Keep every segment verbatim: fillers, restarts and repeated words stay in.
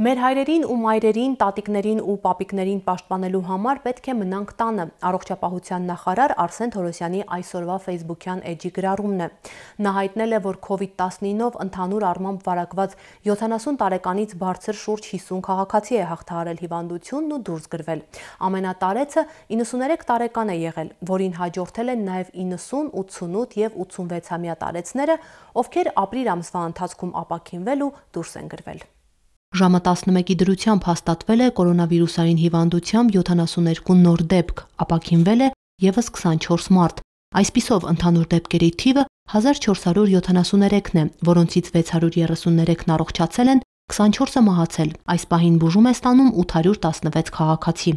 Մեր հայրերին ու մայրերին, տատիկներին ու պապիկներին պաշտպանելու համար պետք է մնանք տանը։ Առողջապահության նախարար Արսեն Թորոսյանի այսօրվա ֆեյսբուքյան էջի գրառումն է։ Նա հայտնել է, որ քովիդ տասնինով ընդհանուր առմամբ վարակված յոթանասուն տարեկանից բարձր շուրջ հիսուն քաղաքացի է հաղթահարել հիվանդությունն ու դուրս գրվել։ Ամենատարեցը իննսուներեք տարեկան է եղել, որին հաջորդել են նաև իննսուն, ութսունութ և ութսունվեցամյա տարեցները, ովքեր ապրիլ ամսվա ընթացքում ապաքինվել ու դուրս են գրվել։ Ժամը տասնմեկի դրությամբ հաստատվել է կորոնավիրուսային հիվանդությամբ յոթանասուներկու նոր դեպք, ապաքինվել է ևս քսանչորս մարդ։ Այսպիսով ընդհանուր դեպքերի թիվը հազար չորս հարյուր յոթանասուներեքն է, որոնցից վեց հարյուր երեսուններեքն առողջացել են, քսանչորսը մահացել։ Այս պահին բուժում է ստանում ութ հարյուր տասնվեց քաղաքացի։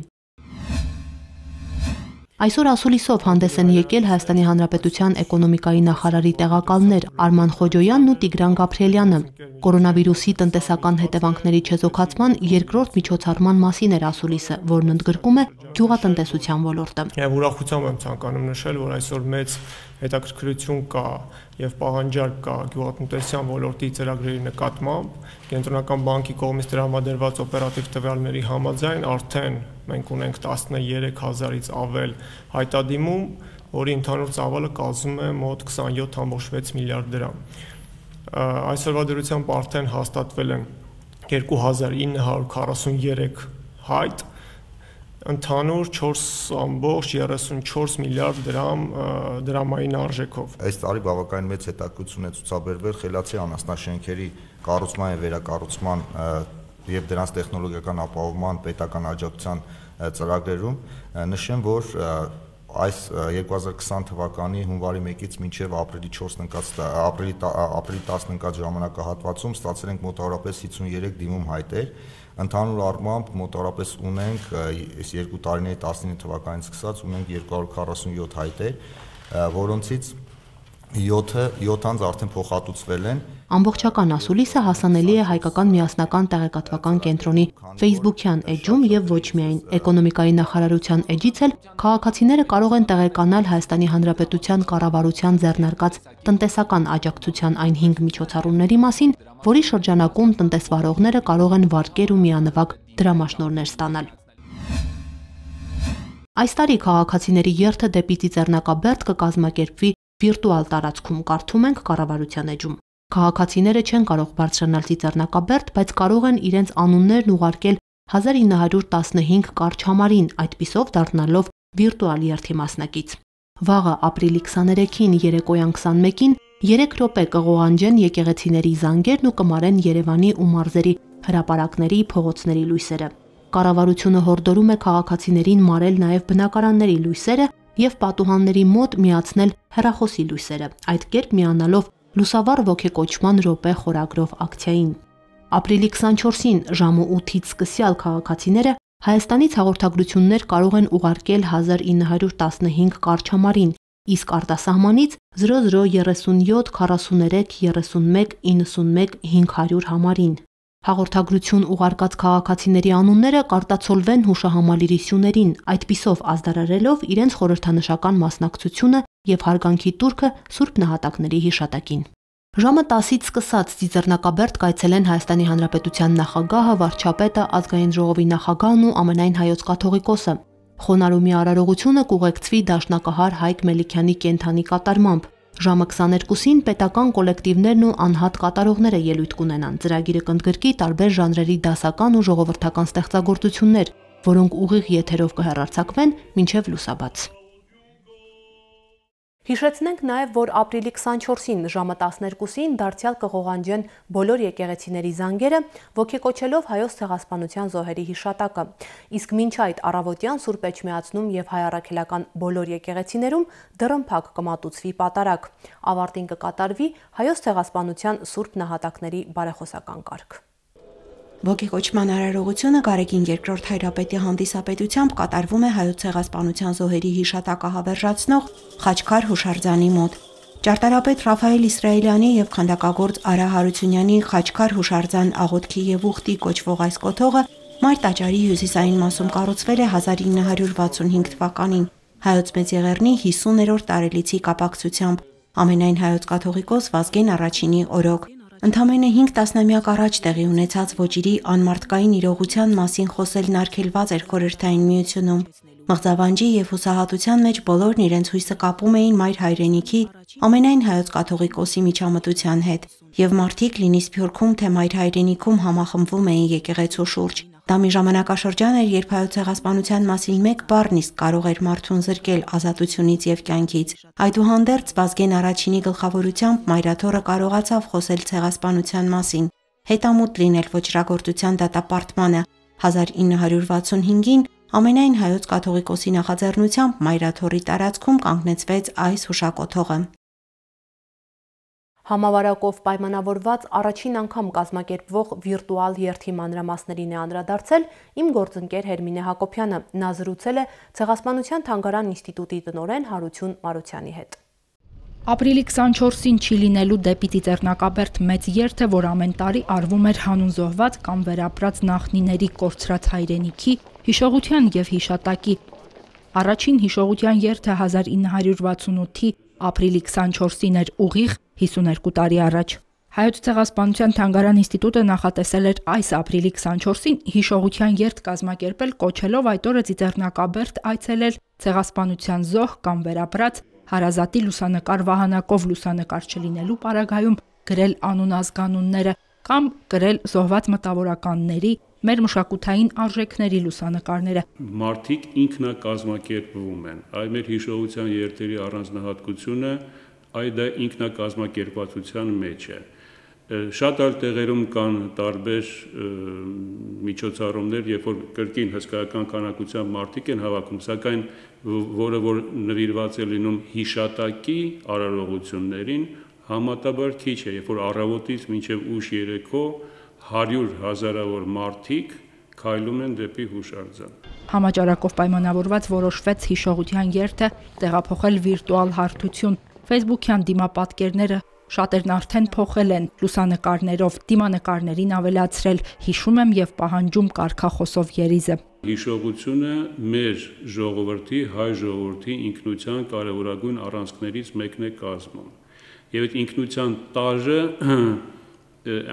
Այսօր ասուլիսով հանդես են եկել Հայաստանի Հանրապետության էկոնոմիկայի նախարարի տեղակալներ Արման Խոջոյանն ու Տիգրան Գաբրիելյանը։ Կորոնավիրուսի տնտեսական հետևանքների չեզոքացման երկրորդ միջոցառման մասին էր ասուլիսը, որն ընդգրկում է գյուղատնտեսության ոլորտը։ Եվ ուրախությամբ եմ ցանկանում նշել, որ այսօր մեծ հետաքրքրություն կա եւ պահանջարկ կա գյուղատնտեսության ոլորտի ծրագրերի նկատմամբ։ Կենտրոնական բանկի կողմից տրամադրված օպերատիվ տվյալների համաձայն արդեն մենք ունենք տասներեք հազարից ավել հայտադիմում, որի ընդհանուր ծավալը կազմում է մոտ քսանյոթ կόμma վեց միլիարդ դրամ։ Այսօրվա դրությամբ արդեն հաստատվել են երկու հազար ինը հարյուր քառասուներեք հայտ, ընդհանուր չորս կόμma երեսունչորս միլիարդ դրամ դրամային արժեքով։ Այս տարի բավականին մեծ հետաքրքրություն է ցուցաբերվել խելացի անասնաշենքերի կառուցման եւ վերակառուցման եւ դրանց տեխնոլոգիական ապահովման պետական աջակցության ծրագրերում։ Նշեմ, որ այս երկու հազար քսան թվականի հունվարի մեկից մինչև ապրիլի չորսն ընկած ապրիլի ապրիլի տասնը ընկած ժամանակահատվածում ստացել ենք մոտավորապես հիսուներեք դիմում հայտեր։ Ընդհանուր առմամբ մոտավորապես ունենք այս երկու տարիների տասնինը թվականից սկսած ունենք երկու հարյուր քառասունյոթ հայտեր, որոնցից յոթ անձ արդեն փոխհատուցվել են։ Ամբողջական ասուլիսը հասանելի է Հայկական միասնական տեղեկատվական կենտրոնի ֆեյսբուքյան էջում եւ ոչ միայն էկոնոմիկայի նախարարության էջից էլ քաղաքացիները կարող են տեղեկանալ Հայաստանի Հանրապետության կառավարության ձեռնարկած տնտեսական աջակցության այն հինգ միջոցառումների մասին, որի շրջանակում տնտեսվարողները կարող են վարկեր ու միանվագ դրամաշնորհներ ստանալ։ Այս տարի քաղաքացիների երթը դեպի Ծիծեռնակաբերդ կկազմակերպվի վիրտուալ տարածքում, կարդում ենք կառավարության էջում։ Քաղաքացիները չեն կարող բարձրանալ Ծիծեռնակաբերդ, բայց կարող են իրենց անուններն ուղարկել հազար ինը հարյուր տասնհինգ կարճ համարին, այդպիսով դառնալով վիրտուալ երթի մասնակից։ Վաղը ապրիլի քսաներեքին երեկոյան քսանմեկին երեք րոպե կղողանջեն եկեղեցիների զանգերն ու կմարեն Երևանի ու մարզերի հրապարակների, փողոցների լույսերը։ Կառավարությունը հորդորում է քաղաքացիներին մարել նաև բնակարանների լույսերը եւ պատուհանների մոտ միացնել հեռախոսի լույսերը, այդ կերպ միանալով լուսավառ ոգեկոչման րոպե խորագրով ակցիային։ Ապրիլի քսանչորսին ժամը ութից սկսյալ քաղաքացիները Հայաստանից հաղորդագրություններ կարող են ուղարկել հազար ինը հարյուր տասնհինգ կարճ համարին, իսկ արտասահմանից զրո զրո երեսունյոթ քառասուներեք երեսունմեկ իննսունմեկ հինգ հարյուր համարին։ Հաղորդագրություն ուղարկած քաղաքացիների անունները կարտացոլվեն հուշահամալիրի սյուներին, այդպիսով ազդարարելով իրենց խորհրդանշական մասնակցությունը եւ հարգանքի տուրքը Սուրբ նահատակների հիշատակին։ Ժամը տասից սկսած Ծիծեռնակաբերդ կայցելեն Հայաստանի Հանրապետության նախագահը, վարչապետը, ազգային ժողովի նախագահն ու ամենայն հայոց կաթողիկոսը։ Խոնարհումի արարողությունը կուղեկցվի դաշնակահար Հայկ Մելիքյանի կենդանի կատարմամբ։ Ժամը քսաներկուսին պետական կոլեկտիվներն ու անհատ կատարողները ելույթ կունենան։ Ծրագիրը կընդգրկի տարբեր ժանրերի դասական ու ժողովրդական ստեղծագործություններ, որոնք ուղիղ եթերով կհեռարձակվեն մինչև լուսաբաց։ Հիշեցնենք նաև, որ ապրիլի քսանչորսին ժամը տասներկուսին դարձյալ կղողանջեն բոլոր եկեղեցիների զանգերը, ոգեկոչելով հայոց ցեղասպանության զոհերի հիշատակը։ Իսկ մինչ այդ առավոտյան Սուրբ Էջմիածնում եւ հայ առաքելական բոլոր եկեղեցիներում դռնփակ կմատուցվի պատարագ։ Ավարտին կկատարվի հայոց ցեղասպանության Սուրբ նահատակների բարեխոսական կարգ։ Ոգեկոչման արարողությունը Գարեգին երկրորդ հայրապետի հանդիսապետությամբ կատարվում է հայոց ցեղասպանության զոհերի հիշատակը հավերժացնող Խաչքար հուշարձանի մոտ։ Ճարտարապետ Ռաֆայել Իսրայելյանի եւ քանդակագործ Արա Հարությունյանի Խաչքար հուշարձան աղոթքի եւ ուխտի կոչվող այս կոթողը Մայր տաճարի հյուսիսային մասում կառուցվել է հազար ինը հարյուր վաթսունհինգ թվականին Հայոց Մեծեղեռնի հիսուներորդ տարելիցի կապակցությամբ ամենայն հայոց կաթողիկոս Վազգեն Առաջինի օրոք։ Ընդամենը հինգ տասնամյակ առաջ տեղի ունեցած ոճիրի անմարդկային իրողության մասին խոսելն արգելված էր Խորհրդային Միությունում։ Մղձավանջի եւ հուսահատության մեջ բոլորն իրենց հույսը կապում էին Մայր հայրենիքի ամենայն հայոց կաթողիկոսի միջամտության հետ, եւ մարդիկ լինի Սփյուռքում թե Մայր հայրենիքում համախմբվում էին եկեղեցու շուրջ։ Դա մի ժամանակաշրջան էր, երբ հայոց ցեղասպանության մասին մեկ բառն իսկ կարող էր մարդուն զրկել ազատությունից եւ կյանքից։ Այդուհանդերձ Վազգեն Առաջինի գլխավորությամբ Մայրաթոռը կարողացավ խոսել ցեղասպանության մասին, հետամուտ լինել ոճրագործության դատապարտմանը։ հազար ինը հարյուր վաթսունհինգին ամենայն հայոց կաթողիկոսի նախաձեռնությամբ Մայրաթոռի տարածքում կանգնեցվեց այս հուշակոթողը։ Համավարակով պայմանավորված առաջին անգամ կազմակերպվող վիրտուալ երթի մանրամասներին է անդրադարձել իմ գործընկեր Հերմինե Հակոբյանը, նա զրուցել է Ցեղասպանության թանգարան ինստիտուտի տնօրեն Հարություն Մարությանի հետ։ Ապրիլի քսանչորսին չի լինելու դեպի Ծիծեռնակաբերդ մեծ երթը, որ ամեն տարի արվում էր հանուն զոհված կամ վերապրած նախնիների կորցրած հայրենիքի, հիշողության եւ հիշատակի։ Առաջին հիշողության երթը հազար ինը հարյուր վաթսունութի ապրիլի քսանչորսին էր ուղիղ հիսուներկու տարի առաջ։ Հայոց ցեղասպանության թանգարան ինստիտուտը նախատեսել էր այս ապրիլի քսանչորսին հիշողության երթ կազմակերպել, կոչելով այդ օրը Ծիծեռնակաբերդ այցելել ցեղասպանության զոհ կամ վերապրած հարազատի լուսանկար վահանակով լուսանկար չլինելու պարագայում գրել անուն-ազգանունները կամ գրել զոհված մտավորականների, մեր մշակութային արժեքների լուսանկարները։ Մարդիկ ինքնակազմակերպվում են։ Այ մեր հիշողության երթերի առանձնահատկությունը այդ դա ինքնակազմակերպվածության մեջ է։ Շատ այլ տեղերում կան տարբեր միջոցառումներ, երբ որ կրկին հսկայական քանակությամբ մարդիկ են հավաքում, սակայն որը որ նվիրված է լինում հիշատակի արարողություններին, համատաբար քիչ է, երբ որ առավոտից մինչև ուշ երեկո հարյուր հազարավոր մարդիկ քայլում են դեպի հուշարձան։ Համաճարակով պայմանավորված որոշվեց հիշողության երթը տեղափոխել վիրտուալ հարթություն։ Facebook-յան դիմապատկերները շատերն արդեն փոխել են լուսանկարներով, դիմանկարներին ավելացրել հիշում եմ եւ պահանջում կարգախոսով երիզը։ Հիշողությունը մեր ժողովրդի, հայ ժողովրդի ինքնության կարևորագույն առանցքներից մեկն է կազմում։ Եվ այդ ինքնության տարրը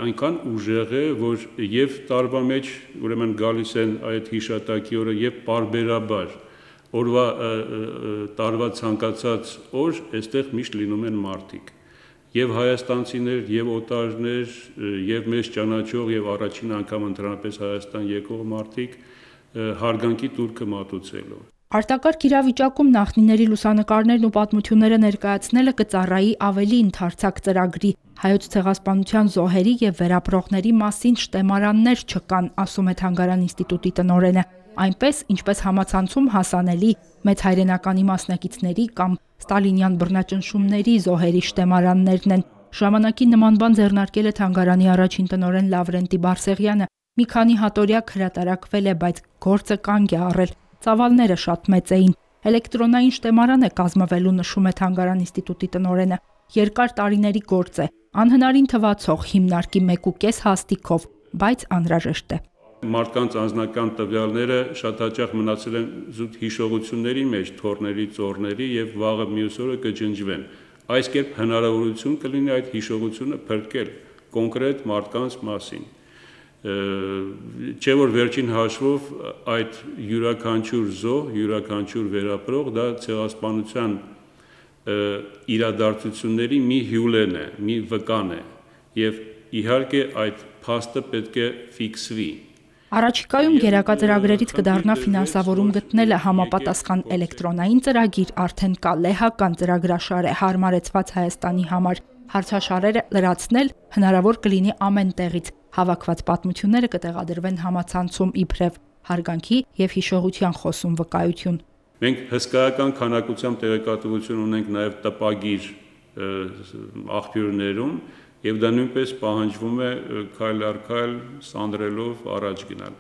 այնքան ուժեղ է, որ եւ տարվա մեջ ուրեմն գալիս են այդ հիշատակի օրը եւ պարբերաբար օրվա տարվա ցանկացած օր այստեղ միշտ լինում են մարդիկ եւ հայաստանցիներ եւ օտարներ եւ մեզ ճանաչող եւ առաջին անգամ ընդհանրապես Հայաստան եկող մարդիկ հարգանքի տուրքը մատուցելով։ Արտակարգ իրավիճակում նախնիների լուսանկարներն ու պատմությունները ներկայացնելը կծառայի ավելի ընդարձակ ծրագրի։ Հայոց ցեղասպանության զոհերի եւ վերապրողների մասին շտեմարաններ չկան, ասում է Թանգարան ինստիտուտի տնօրենը։ Այնպես, ինչպես համացանցում հասանելի մեծ հայրենականի մասնակիցների կամ ստալինյան բռնաճնշումների զոհերի շտեմարաններն են։ Ժամանակի նման բան ձեռնարկել է Թանգարանի առաջին տնօրեն Լավրենտի Բարսեղյանը։ Մի քանի հատորյակ հրատարակվել է, բայց գործը կանգ է առել։ Ծավալները շատ մեծ էին։ Էլեկտրոնային շտեմարան է կազմվելու, նշում է Թանգարան ինստիտուտի տնօրենը։ Երկար տարիների գործ է, անհնարին թվացող հիմնարկի մեկ ու կես հաստիքով, բայց անհրաժեշտ է։ Մարդկանց անձնական տվյալները շատ հաճախ մնացել են զուտ հիշողությունների մեջ, թորների, ծորների եւ վաղը մյուս օրը կջնջվեն։ Այս կերպ հնարավորություն կլինի այդ հիշողությունը փրկել կոնկրետ մարդկանց մասին։ Չէ որ վերջին հաշվով այդ յուրաքանչյուր զոհ, յուրաքանչյուր վերապրող դա ցեղասպանության իրադարձությունների մի հյուլեն է, մի վկան է եւ իհարկե այդ փաստը պետք է ֆիքսվի։ Առաջիկայում գերակա ծրագրերից կդառնա ֆինանսավորում գտնելը համապատասխան էլեկտրոնային ծրագիր արդեն կա լեհական ծրագրաշար է հարմարեցված Հայաստանի համար։ Հարցաշարերը լրացնել հնարավոր կլինի ամեն տեղից։ Հավաքված պատմությունները կտեղադրվեն համացանցում իբրև հարգանքի եւ հիշողության խոսում վկայություն։ Մենք հսկայական քանակությամբ տեղեկատվություն ունենք նաեւ տպագիր աղբյուրներում եւ դա նույնպես պահանջվում է քայլ առ քայլ սանրելով առաջ գնալ։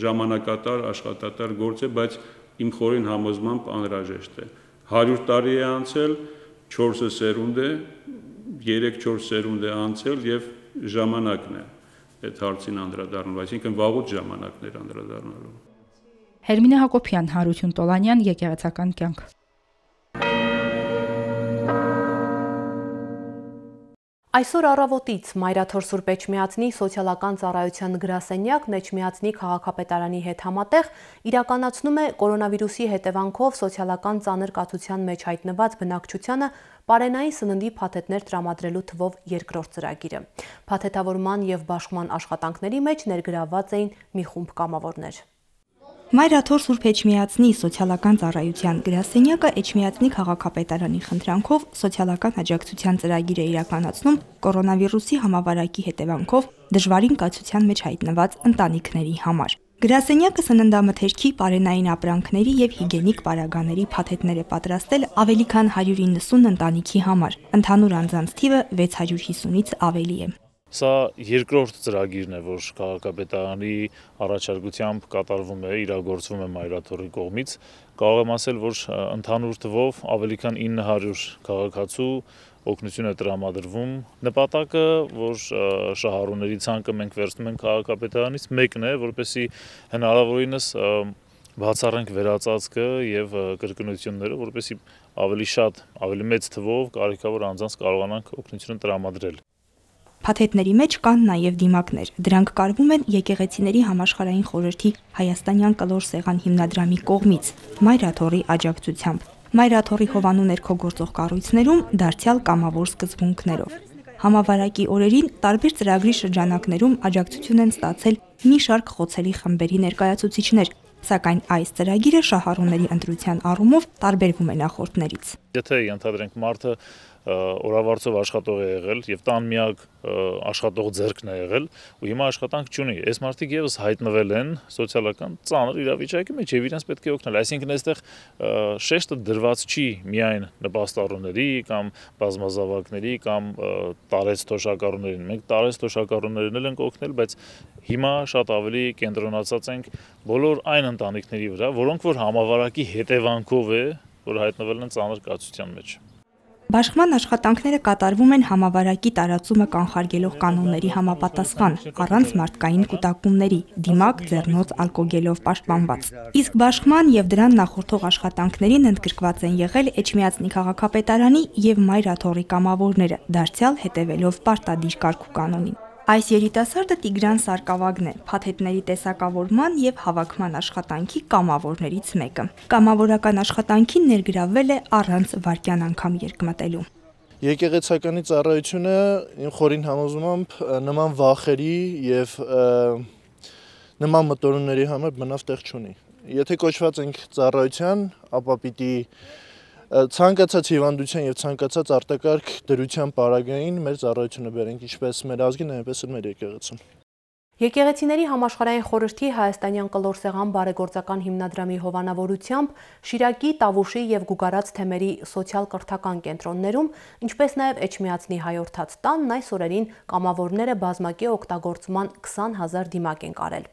Ժամանակատար, աշխատատար գործ է, բայց իմ խորին համոզմամբ անհրաժեշտ է։ հարյուր տարի է անցել, չորսը սերունդ է, երեք-չորս սերունդ է անցել եւ ժամանակն է այդ հարցին անդրադառնալու, այսինքն վաղուց ժամանակներ անդրադառնալու։ Հերմինե Հակոբյան, Հարություն Տոլանյան, Եկեղեցական կյանք։ Այսօր առավոտից Մայրաթոր Սուրբ Էջմիածնի սոցիալական ծառայության գրասենյակն Էջմիածնի քաղաքապետարանի հետ համատեղ իրականացնում է կորոնավիրուսի հետևանքով սոցիալական ծանր կացության մեջ հայտնված բնակչությանը պարենային սննդի փաթեթներ տրամադրելու թվով երկրորդ ծրագիրը։ Փաթեթավորման եւ բաշխման աշխատանքների մեջ ներգրավված էին մի խումբ կամավորներ։ Մայրաթոր Սուրբ Էջմիածնի սոցիալական ծառայության գրասենյակը Էջմիածնի քաղաքապետարանի խնդրանքով սոցիալական աջակցության ծրագիր է իրականացնում կորոնավիրուսի համավարակի հետևանքով դժվարին կացության մեջ հայտնված ընտանիքների համար։ Գրասենյակը սննդամթերքի, պարենային ապրանքների եւ հիգիենիկ պարագաների փաթեթներ է պատրաստել ավելի քան հարյուր իննսուն ընտանիքի համար։ Ընդհանուր անձանց թիվը վեց հարյուր հիսունից ավելի է։ Սա երկրորդ ծրագիրն է, որ քաղաքապետարանի առաջարկությամբ կատարվում է, իրագործվում է Մայրաթորի կողմից։ Կարող եմ ասել, որ ընդհանուր թվով ավելի քան ինը հարյուր քաղաքացու օգնություն է տրամադրվում։ Նպատակը, որ շահառուների ցանկը մենք վերցնում ենք քաղաքապետարանից, մեկն է, որպեսզի հնարավորինս բացառենք վերածածկը եւ կրկնությունները, որպեսզի ավելի շատ, ավելի մեծ թվով կարիքավոր անձանց կարողանանք օգնություն տրամադրել։ Փաթեթների մեջ կան նաև դիմակներ։ Դրանք կարվում են Եկեղեցիների համաշխարհային խորհրդի Հայաստանյան կլոր սեղան հիմնադրամի կողմից Մայրաթորի աջակցությամբ։ Մայրաթորի հովանու ներքո գործող կառույցներում դարձյալ կամավոր սկզբունքներով։ Համավարակի օրերին տարբեր ծրագրի շրջանակներում աջակցություն են ստացել մի շարք խոցելի խմբերի ներկայացուցիչներ, սակայն այս ծրագիրը շահառուների ընտրության առումով տարբերվում է նախորդներից։ Եթե ենթադրենք մարդը օրավարձով աշխատող է եղել եւ տան միակ աշխատող ձեռքն է եղել ու հիմա աշխատանք չունի, այս մարդիկ եւս հայտնվել են սոցիալական ծանր իրավիճակի մեջ եւ իրենց պետք է օգնել, այսինքն այստեղ շեշտը դրված չի միայն նպաստառուների կամ բազմազավակների կամ տարեց թոշակառուներին, մենք տարեց թոշակառուներին էլ ենք օգնել, բայց հիմա շատ ավելի կենտրոնացած ենք բոլոր այն ընտանիքների վրա, որոնք որ համավարակի հետևանքով է, որ հայտնվել են ծանր կացության մեջ։ Բաշխման աշխատանքները կատարվում են համավարակի տարածումը կանխարգելող կանոնների համապատասխան, առանց մարդկային կուտակումների, դիմակ, ձեռնոց, ալկոգելով պաշտպանված։ Իսկ բաշխման եւ դրան նախորդող աշխատանքներին ընդգրկված են եղել Էջմիածնի քաղաքապետարանի եւ Մայրաթորի կամավորները, դարձյալ հետևելով պարտադիր կարգ ու կանոնին։ Այս երիտասարդը Տիգրան Սարգսակն է, փաթեթների տեսակավորման եւ հավաքման աշխատանքի կամավորներից մեկը։ Կամավորական աշխատանքին ներգրավվել է առանց վայրկյան անգամ երկմտելու։ Եկեղեցականի ծառայությունը իմ խորին համոզմամբ նման վախերի եւ նման մտորումների համար բնավ տեղ չունի։ Եթե կոչված ենք ծառայության, ապա պիտի ցանկացած հիվանդության եւ ցանկացած արտակարգ դրության պարագային մեր ծառայությունը բերենք ինչպես մեր ազգին, այնպես էլ մեր եկեղեցին։ Եկեղեցիների համաշխարհային խորհրդի Հայաստանյան կլոր սեղան բարեգործական հիմնադրամի հովանավորությամբ Շիրակի, Տավուշի եւ Գուգարաց թեմերի սոցիալ-կրթական կենտրոններում, ինչպես նաեւ Էջմիածնի հայորդաց տանն այս օրերին կամավորները բազմակի օգտագործման քսան հազար դիմակ են կարել։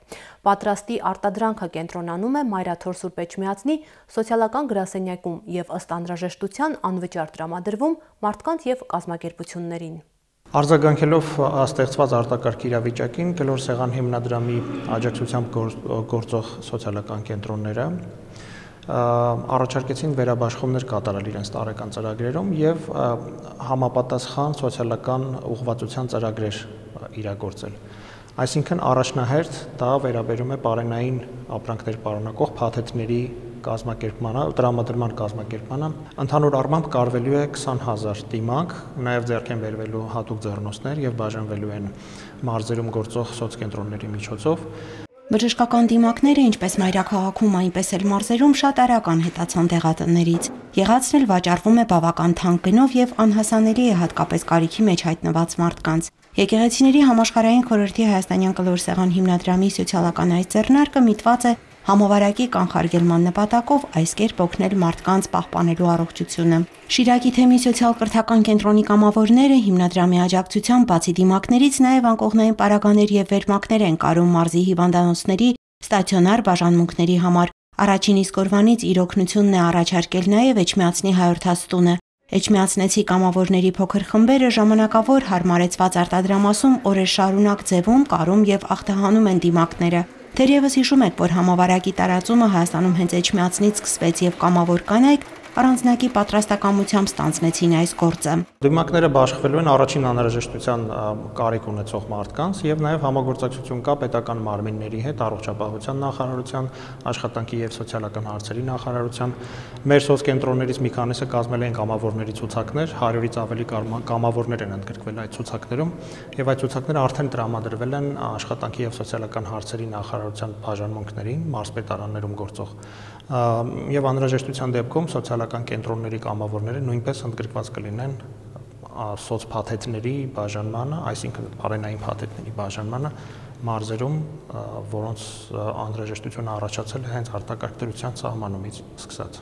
Պատրաստի արտադրանքը կենտրոնանում է Մայրաթոր Սուրբ Էջմիածնի սոցիալական գրասենյակում եւ ըստ անհրաժեշտության անվճար տրամադրվում մարդկանց եւ կազմակերպություններին։ Արձագանքելով ստեղծված արտակարգ իրավիճակին, կլոր սեղան հիմնադրամի աջակցությամբ գործող սոցիալական կենտրոնները առաջարկեցին վերաբաշխումներ կատարել իրենց տարեկան ծրագրերում եւ համապատասխան սոցիալական ուղղվածության ծրագրեր իրագործել։ Այսինքն առաջնահերթ դա վերաբերում է պարենային ապրանքներ պարունակող փաթեթների կազմակերպմանը, տրամադրման կազմակերպմանը։ Ընդհանուր առմամբ կարվելու է քսան հազար դիմակ, նաև ձեռք են բերվելու հատուկ ձեռնոցներ եւ բաժանվելու են մարզերում գործող սոցկենտրոնների միջոցով։ Բժշկական դիմակները ինչպես մայրաքաղաքում, այնպես էլ մարզերում շատ արագ անհետացան դեղատններից։ Եղածն էլ վաճառվում է բավական թանկ գնով եւ անհասանելի է հատկապես կարիքի մեջ հայտնված մարդկանց։ Եկեղեցիների համաշխարհային խորհրդի Հայաստանյան կլոր սեղան հիմնադրամի սոցիալական այս ձեռնարկը միտված է համավարակի կանխարգելման նպատակով այս կերպ օգնել մարդկանց պահպանելու առողջությունը։ Շիրակի թեմի սոցիալ-կրթական կենտրոնի կամավորները հիմնադրամի աջակցությամբ բացի դիմակներից նաև անկողնային պարագաներ եւ վերմակներ են կարում մարզի հիվանդանոցների ստացիոնար բաժանմունքների համար։ Առաջին իսկ օրվանից իր օգնությունն է առաջարկել նաև Էջմիածնի հայորդաց տունը։ Էջմիածնեցի կամավորների փոքր խմբերը ժամանակավոր հարմարեցված արտադրամասում օրեր շարունակ ձևում, կարում եւ ախտահանում են դիմակները։ Թերևս հիշում եք, որ համավարակի տարածումը Հայաստանում հենց Էջմիածնից սկսվեց եւ կամավոր կանայք առանձնակի պատրաստակամությամբ ստանձնեցին այս գործը։ Դիմակները բաշխվելու են առաջին անհրաժեշտության կարիք ունեցող մարդկանց եւ նաեւ համագործակցություն կա պետական մարմինների հետ, առողջապահության նախարարության, աշխատանքի եւ սոցիալական հարցերի նախարարության։ Մեր սոցկենտրոններից մի քանիսը կազմել են կամավորների ցուցակներ, հարյուրից ավելի կամավորներ են ընդգրկվել այդ ցուցակներում եւ այդ ցուցակները արդեն տրամադրվել են աշխատանքի եւ սոցիալական հարցերի նախարարության բաժանմունքներին, մարզպետարաններում գործող եւ անհրաժեշտության դեպքում սոցիալական կենտրոնների կամավորները նույնպես ընդգրկված կլինեն սոցփաթեթների բաժանմանը, այսինքն բարենային փաթեթների բաժանմանը մարզերում, որոնց անհրաժեշտությունը առաջացել է հենց արտակարգ դրության սահմանումից սկսած։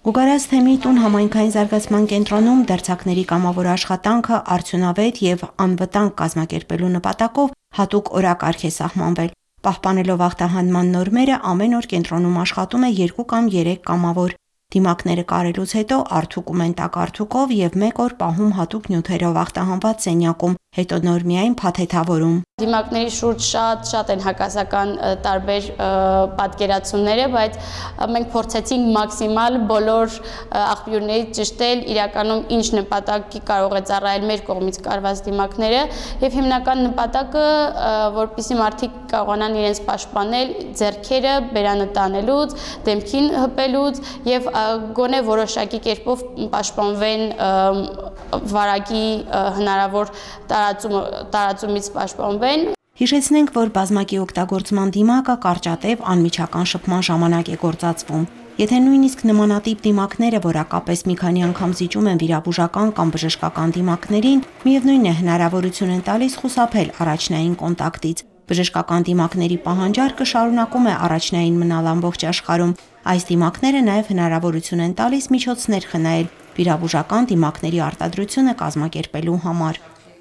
Գուգարաց թեմի տուն համայնքային զարգացման կենտրոնում դերձակների կամավոր աշխատանքը արդյունավետ եւ անվտանգ կազմակերպելու նպատակով հատուկ օրակարգ է սահմանվել։ Պահպանելով ախտահանման նորմերը ամեն օր կենտրոնում աշխատում է երկու կամ երեք կամավոր։ Դիմակները կարելուց հետո արդուկում են տակարդուկով եւ մեկ օր պահում հատուկ նյութերով ախտահանված սենյակում, հետո նոր միայն փաթեթավորում։ Դիմակների շուրջ շատ-շատ են հակասական տարբեր պատկերացումները, բայց մենք փորձեցինք մաքսիմալ բոլոր աղբյուրներից ճշտել իրականում ինչ նպատակի կարող է ծառայել մեր կողմից կարված դիմակները եւ հիմնական նպատակը, որպեսզի մարդիկ կարողանան իրենց պաշտպանել ձեռքերը բերանը տանելուց, դեմքին հպելուց եւ գոնե որոշակի կերպով պաշտպանվեն վարակի հնարավոր տարածումից պաշտպանվեն։ Հիշեցնենք, որ բազմակի օգտագործման դիմակը կարճատև անմիջական շփման ժամանակ է գործածվում։ Եթե նույնիսկ նմանատիպ դիմակները որակապես մի քանի անգամ զիջում են վիրաբուժական կամ բժշկական դիմակներին, միևնույն է հնարավորություն են տալիս խուսափել առաջնային կոնտակտից։ Բժշկական դիմակների պահանջարկը շարունակում է առաջնային մնալ ամբողջ աշխարհում։ Այս դիմակները նաև հնարավորություն են տալիս միջոցներ խնայել վիրաբուժական դիմակների արտադրությունը կազմակերպելու համար։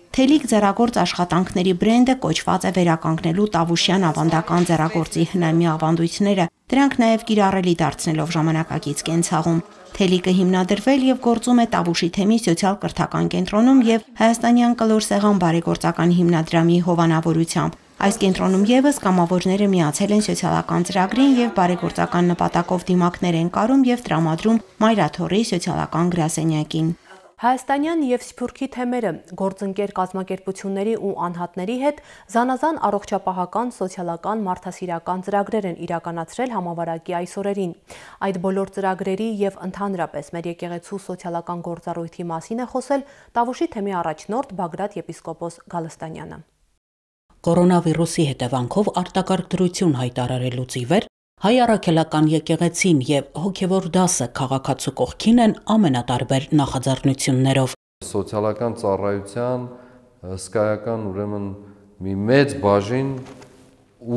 Թելիկ ձեռագործ աշխատանքների բրենդը կոչված է վերականգնելու Տավուշյան ավանդական ձեռագործի հնամի ավանդույթները, դրանք նաև կիրառելի դարձնելով ժամանակակից կենցաղում։ Թելիկը հիմնադրվել եւ գործում է Տավուշի թեմի սոցիալ-կրթական կենտրոնում եւ Հայաստանյան կլոր սեղան բարեգործական հիմնադրամի հովանավորությամբ։ Այս կենտրոնում եւս կամավորները միացել են սոցիալական ծրագրին եւ բարեգործական նպատակով դիմակներ են կարում եւ տրամադրում Մայրաթորի սոցիալական գրասենյակին։ Հայաստանյան եւ Սփյուռքի թեմերը գործընկեր կազմակերպությունների ու անհատների հետ զանազան առողջապահական, սոցիալական, մարդասիրական ծրագրեր են իրականացրել համավարակի այս օրերին։ Այդ բոլոր ծրագրերի եւ ընդհանրապես մեր եկեղեցու սոցիալական գործառույթի մասին է խոսել Տավուշի թեմի առաջնորդ Բագրատ եպիսկոպոս Գալստանյանը։ Կորոնավիրուսի հետևանքով արտակարգ դրություն հայտարարելուց ի վեր հայ առաքելական եկեղեցին եւ հոգեվոր դասը քաղաքացու կողքին են ամենատարբեր նախաձեռնություններով։ Սոցիալական ծառայության հսկայական ուրեմն մի մեծ բաժին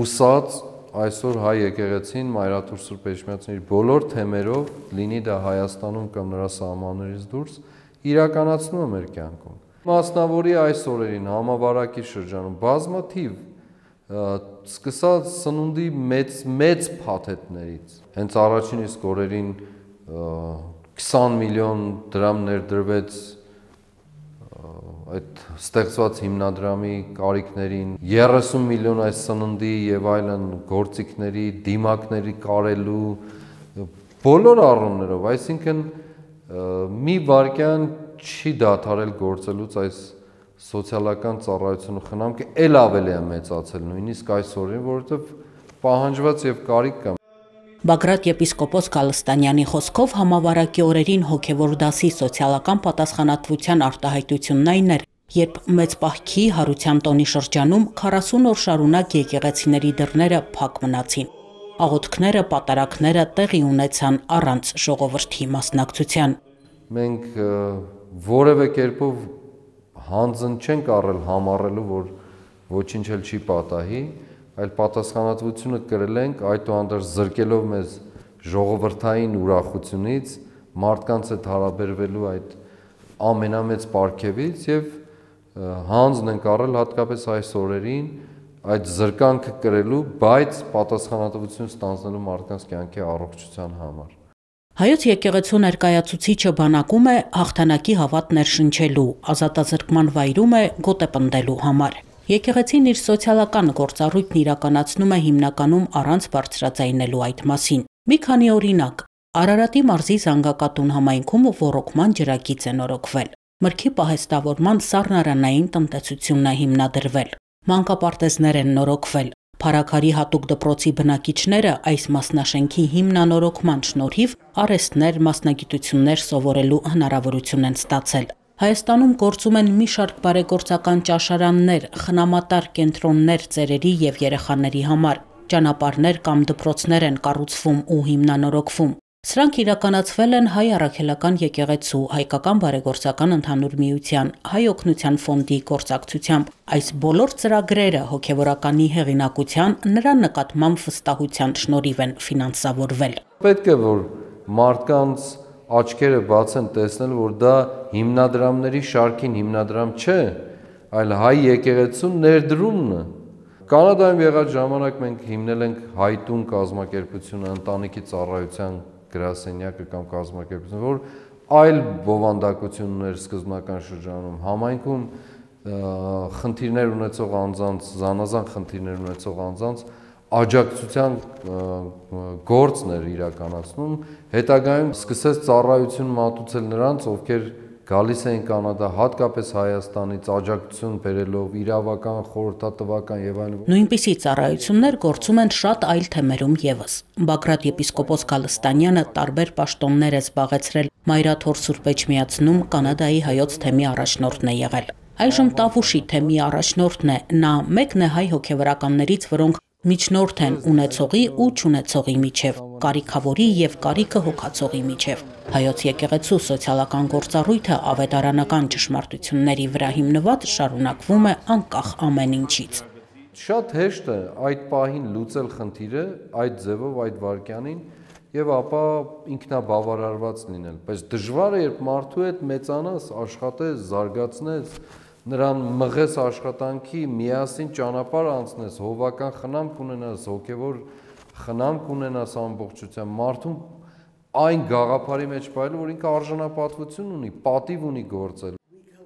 ուսած այսօր հայ եկեղեցին Մայրաթոր Սուրբ Էջմիածնի բոլոր թեմերով, լինի դա Հայաստանում կամ նրա սահմաններից դուրս, իրականացնում է մեր կյանքում։ Մասնավորի այս օրերին համավարակի շրջանում բազմաթիվ սկսած սնունդի մեծ մեծ փաթեթներից հենց առաջին իսկ օրերին քսան միլիոն դրամ ներդրվեց այդ ստեղծված հիմնադրամի կարիքներին, երեսուն միլիոն այս սննդի եւ այլն գործիքների, դիմակների կարելու բոլոր առումներով, այսինքն մի վարքյան չի դադարել գործելուց այս սոցիալական ծառայությունը խնամքը ել ավելի է մեծացել նույնիսկ այս օրին, որովհետև պահանջված եւ կարիք կա։ Բագրատ եպիսկոպոս Գալստանյանի խոսքով համավարակի օրերին հոգեվոր դասի սոցիալական պատասխանատվության արտահայտությունն այն էր, երբ մեծ պահքի հարության տոնի շրջանում քառասուն օր շարունակ եկեղեցիների դռները փակ մնացին։ Աղոթքները, պատարակները տեղի ունեցան առանց ժողովրդի մասնակցության։ Մենք որևէ կերպով հանձն չենք առել համառելու, որ ոչինչ էլ չի պատահի, այլ պատասխանատվությունը կրել ենք, այդուհանդերձ զրկելով մեզ ժողովրդային ուրախությունից, մարդկանց հետ հարաբերվելու այդ ամենամեծ պարգևից եւ հանձն ենք առել հատկապես այս օրերին այդ զրկանքը կրելու, բայց պատասխանատվություն ստանձնելու մարդկանց կյանքի առողջության համար։ Հայոց եկեղեցու ներկայացուցիչը բանակում է հաղթանակի հավատ ներշնչելու, ազատազրկման վայրում է գոտեպնդելու համար։ Եկեղեցին իր սոցիալական գործառույթն իրականացնում է հիմնականում առանց բարձրաձայնելու այդ մասին։ Մի քանի օրինակ. Արարատի մարզի Զանգակատուն համայնքում ոռոգման ջրագիծ է նորոգվել։ Մրգի պահեստավորման սառնարանային տնտեսությունն է հիմնադրվել։ Մանկապարտեզներ են նորոգվել։ Փարաքարի հատուկ դպրոցի բնակիչները այս մասնաշենքի հիմնանորոգման շնորհիվ արհեստներ, մասնագիտություններ սովորելու հնարավորություն են ստացել։ Հայաստանում գործում են մի շարք բարեգործական ճաշարաններ, խնամատար կենտրոններ ծերերի եւ երեխաների համար, ճանապարհներ կամ դպրոցներ են կառուցվում ու հիմնանորոգվում։ Սրանք իրականացվել են Հայ առաքելական եկեղեցու, Հայկական բարեգործական ընդհանուր միության, Հայ օգնության ֆոնդի գործակցությամբ։ Այս բոլոր ծրագրերը հոգևորականի հեղինակության, նրա նկատմամբ վստահության շնորհիվ են ֆինանսավորվել։ Պետք է որ մարդկանց աչքերը բացեն, տեսնել, որ դա հիմնադրամների շարքին հիմնադրամ չէ, այլ Հայ եկեղեցու ներդրումն է։ Կանադայում եղած ժամանակ մենք հիմնել ենք Հայտուն կազմակերպությունը, ընտանիքի ծառայության գրասենյակը կամ կազմակերպություն, որ այլ բովանդակություն ուներ սկզբնական շրջանում, համայնքում խնդիրներ ունեցող անձանց, զանազան խնդիրներ ունեցող անձանց աջակցության գործն էր իրականացնում, հետագայում սկսեց ծառայություն մատուցել նրանց, ովքեր գալիս էին Կանադա, հատկապես Հայաստանից աջակցություն բերելով իրավական, խորհրդատվական եւ այլն։ Նույնպիսի ծառայություններ գործում են շատ այլ թեմերում եւս։ Բագրատ եպիսկոպոս Գալստանյանը տարբեր պաշտոններ է զբաղեցրել Մայրաթոր Սուրբ Էջմիածնում Կանադայի հայոց թեմի առաջնորդն է եղել։ Այժմ Տավուշի թեմի առաջնորդն է, նա մեկն է հայ հոգևորականներից, որոնք միջնորդ են ունեցողի ու չունեցողի միջև, կարիքավորի եւ կարիքը հոգացողի միջև։ Հայոց եկեղեցու սոցիալական գործառույթը ավետարանական ճշմարտությունների վրա հիմնված շարունակվում է անկախ ամեն ինչից։ Շատ հեշտ է այդ պահին լուծել խնդիրը, այդ ձևով, այդ վարքյանին եւ ապա ինքնաբավարարված լինել, բայց դժվար է, երբ մարդու հետ մեծանաս, աշխատես, զարգացնես, նրան մղես աշխատանքի, միասին ճանապարհ անցնես, հովական խնամք ունենաս, հոգևոր խնամք ունենաս ամբողջությամբ, մարդուն այն գաղափարի մեջ պայել, որ ինքը արժանապատվություն ունի, պատիվ ունի գործել։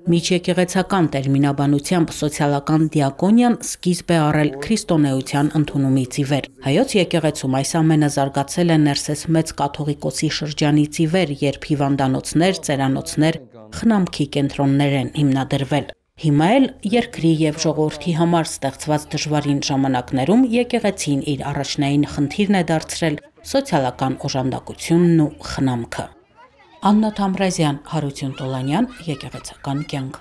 Միջեկեղեցական տերմինաբանությամբ սոցիալական դիակոնիան սկիզբ է առել քրիստոնեության ընդունումից ի վեր։ Հայոց եկեղեցում այս ամենը զարգացել է ներսես մեծ կաթողիկոսի շրջանից ի վեր, երբ հիվանդանոցներ, ծերանոցներ, խնամքի կենտրոններ են հիմնադրվել։ Հիմա էլ երկրի եւ ժողովրդի համար ստեղծված դժվարին ժամանակներում եկեղեցին իր առաջնային խնդիրն է դարձրել սոցիալական օժանդակությունն ու խնամքը։ Աննա Թամրազյան, Հարություն Տոլանյան, Եկեղեցական կյանք։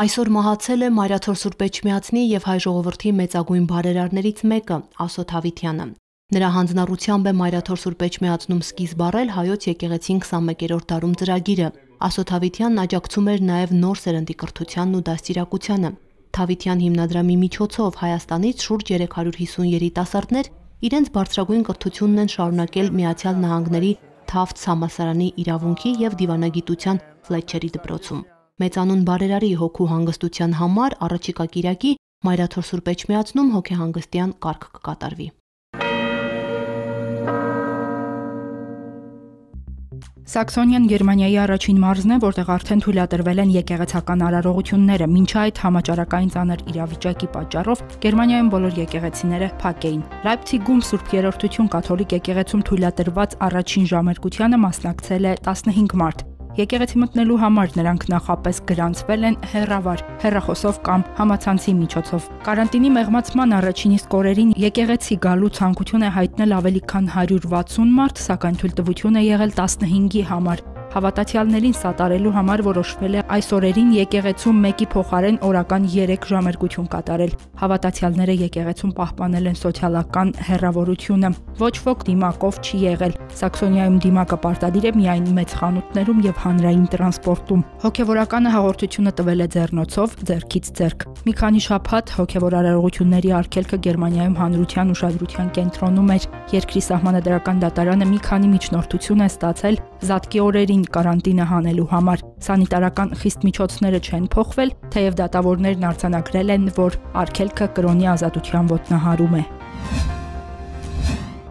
Այսօր մահացել է Մայրաթոր Սուրբ Էջմիածնի եւ հայ ժողովրդի մեծագույն բարերարներից մեկը՝ Ասոթ Հավիտյանը։ Նրա հանձնառությամբ է Մայրաթոր Սուրբ Էջմիածնում սկիզբ առել հայոց եկեղեցին քսանմեկերորդ դարում ծրագիրը։ Ասոթ Հավիտյանն աջակցում էր նաեւ նոր սերնդի կրթությանն ու դաստիարակությանը։ Թավիտյան հիմնադրամի միջոցով Հայաստանից շուրջ երեք հարյուր հիսուն երիտասարդներ իրենց բարձրագույն կրթությունն են շարունակել Միացյալ Նահանգների Թաֆթս համալսարանի իրավունքի եւ դիվանագիտության Ֆլետչերի դպրոցում։ Մեծանուն բարերարի հոգու հանգստության համար առաջիկա կիրակի Մայրաթոր Սուրբ Էջմիածնում հոգեհանգստյան կարգ կկատարվի։ Սաքսոնիան Գերմանիայի առաջին մարզն է, որտեղ արդեն թույլատրվել են եկեղեցական արարողությունները, մինչ այդ համաճարակային ծանր իրավիճակի պատճառով Գերմանիայում բոլոր եկեղեցիները փակ էին։ Լայպցիգում Սուրբ Երրորդություն կաթոլիկ եկեղեցում թույլատրված առաջին ժամերկությանը մասնակցել է տասնհինգ մարդ։ Եկեղեցի մտնելու համար նրանք նախապես գրանցվել են հեռավար, հեռախոսով կամ համացանցի միջոցով։ Կարանտինի մեղմացման առաջին իսկ օրերին եկեղեցի գալու ցանկություն է հայտնել ավելի քան հարյուր վաթսուն մարդ, սակայն թույլտվություն է եղել տասնհինգի համար։ Հավատացյալներին սատարելու համար որոշվել է այս օրերին եկեղեցում մեկի փոխարեն օրական երեք ժամերկություն կատարել։ Հավատացյալները եկեղեցում պահպանել են սոցիալական հեռավորությունը։ Ոչ ոք դիմակով չի եղել։ Սաքսոնիայում դիմակը պարտադիր է միայն մեծ խանութներում եւ հանրային տրանսպորտում։ Հոգեվորականը հաղորդությունը տվել է ձեռնոցով, ձեռքից ձեռք։ Մի քանի շաբաթ հոգեվոր արարողությունների արգելքը Գերմանիայում հանրության ուշադրության կենտրոնում էր։ Երկրի սահմանադրական դատարանը մի քանի միջնորդություն է ստացել Զատկի օրերին կարանտինը հանելու համար։ Սանիտարական խիստ միջոցները չեն փոխվել, թեև դատավորներն արձանագրել են, որ արգելքը կրոնի ազատության ոտնահարում է։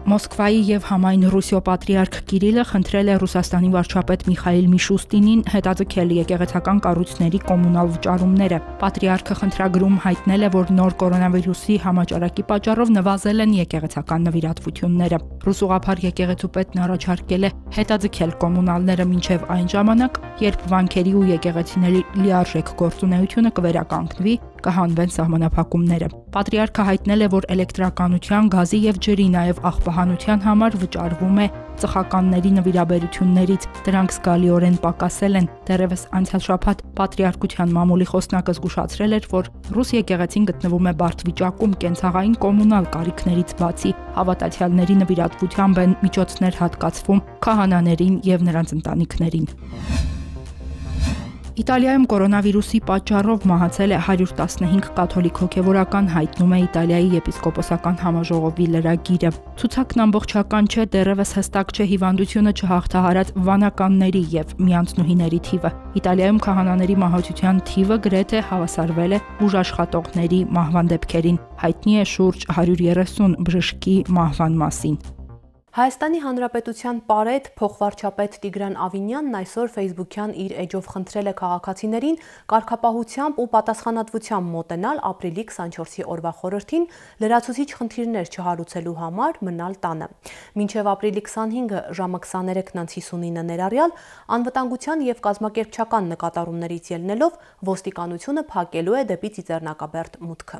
Մոսկվայի եւ համայն Ռուսիո պատրիարք Կիրիլը խնդրել է Ռուսաստանի վարչապետ Միխայիլ Միշուստինին հետաձգել եկեղեցական կառույցների կոմունալ վճարումները։ Պատրիարքը խնդրագրում հայտնել է, որ նոր կորոնավիրուսի համաճարակի պատճառով նվազել են եկեղեցական նվիրատվությունները։ Ռուս ուղղափառ եկեղեցու պետն առաջարկել է հետաձգել կոմունալները մինչև այն ժամանակ, երբ վանքերի ու եկեղեցիների լիարժեք գործունեությունը կվերականգնվի, կհանվեն սահմանափակումները։ Պատրիարքը հայտնել է, որ էլեկտրականության, գազի եւ ջրի, նաեւ աղբահանության համար վճարվում է ծխականների նվիրաբերություններից, դրանք զգալիորեն պակասել են։ Դեռևս անցյալ շաբաթ պատրիարքության մամուլի խոսնակը զգուշացրել էր, որ ռուս եկեղեցին գտնվում է բարդ վիճակում կենցաղային կոմունալ կարիքներից բացի, հավատացյալների նվիրատվությամբ են միջոցներ հատկացվում քահանաներին եւ նրանց ընտանիքներին։ Իտալիայում կորոնավիրուսի պատճառով մահացել է հարյուր տասնհինգ կաթոլիկ հոգևորական, հայտնում է Իտալիայի եպիսկոպոսական համաժողովի լրագիրը։ Ցուցակն ամբողջական չէ, դեռևս հստակ չէ հիվանդությունը չհաղթահարած վանականների եւ միանձնուհիների թիվը։ Իտալիայում քահանաների մահացության թիվը գրեթե հավասարվել է բուժաշխատողների մահվան դեպքերին։ Հայտնի է շուրջ հարյուր երեսուն բժշկի մահվան մասին։ Հայաստանի Հանրապետության պարետ փոխվարչապետ Տիգրան Ավինյանն այսօր Facebook-յան իր էջով խնդրել է քաղաքացիներին կարգապահությամբ ու պատասխանատվությամբ մոտենալ ապրիլի քսանչորսի օրվա խորհրդին լրացուցիչ խնդիրներ չհարուցելու համար մնալ տանը։ Մինչև ապրիլի քսանհինգը ժամը քսաներեքն հիսունինը ներառյալ անվտանգության եւ կազմակերպչական նկատառումներից ելնելով ոստիկանությունը փակելու է դեպի Ծիծեռնակաբերդ մուտքը։